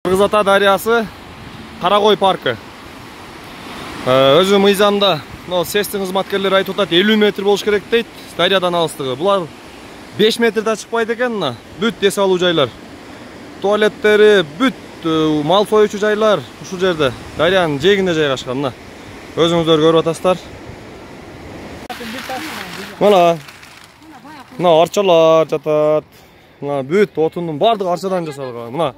Кыргыз Ата дарыясы, Каракой паркы. Өзү мыйзамда, СЭСтин кызматкерлери айтып атат, 50 метр болуш керек дейт, дарыядан алыстыгы. Булар 5 метрде чыкпайт экен, бүт эс алуу жайлар. Туалеттери, бүт мал союучу жайлар ушул жерде, дарыянын жээгинде жайгашкан. Өзүңүздөр көрүп атасыздар. Мына арчалар жатат. Мына бүт отундун бардыгы арчадан жасалган. Мына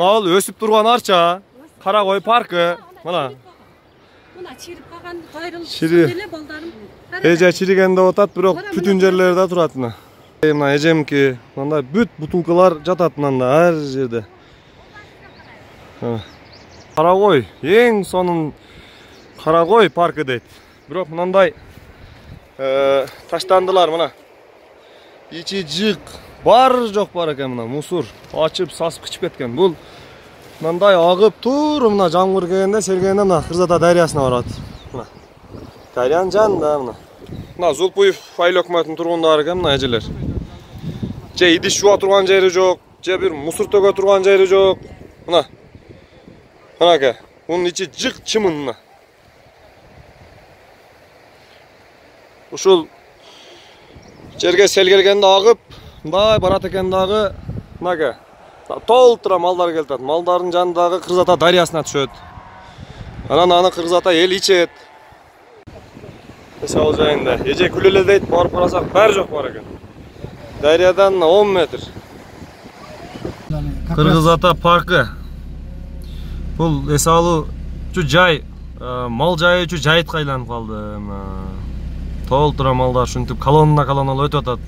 ал өсүп турган арча, Каракой паркы. Мына чирип калган кайрылып эле балдарым. Эже чириген деп атат, бирок бүтүн жерлерде турат. Мына эжемки, мындай бүт бутулкалар жатат мында ар жерде. Каракой, эң сонун Каракой паркы дейт. Бирок мындай таштандылар мына. Ичи жык, бар жок бар экен мына, мусор ачып, сасып кичип кеткен. Бул мындай агып тур, мына жамгыр келгенде, сергенде мына Кыргыз Ата дарыясына барат. Мына дарыянын жанында мына. Мына Зулпуев айыл өкмөтүнүн тургундары экен мына эжелер. Же идиш жууа турган жери жок, же бир мусор төгө турган жери жок. Мына. Мына мунун ичи жык чымын мына. Ушул жерге сел келгенде агып, мындай барат экен дагы, мына толтура малдар келтат. Малдардын жанындагы Кыргыз Ата дарыясына түшөт. Анан аны Кыргыз Ата эл ичет. Эс алуу жайында. Эже күлө эле дейт, барып карасак баары жок бар экен. Дарыядан 10 метр. Кыргыз Ата паркы. Бул эс алуучу жай, мал жайчу жайытка айланып калды. Толтура малдар ушинтип колонна өтүп атат.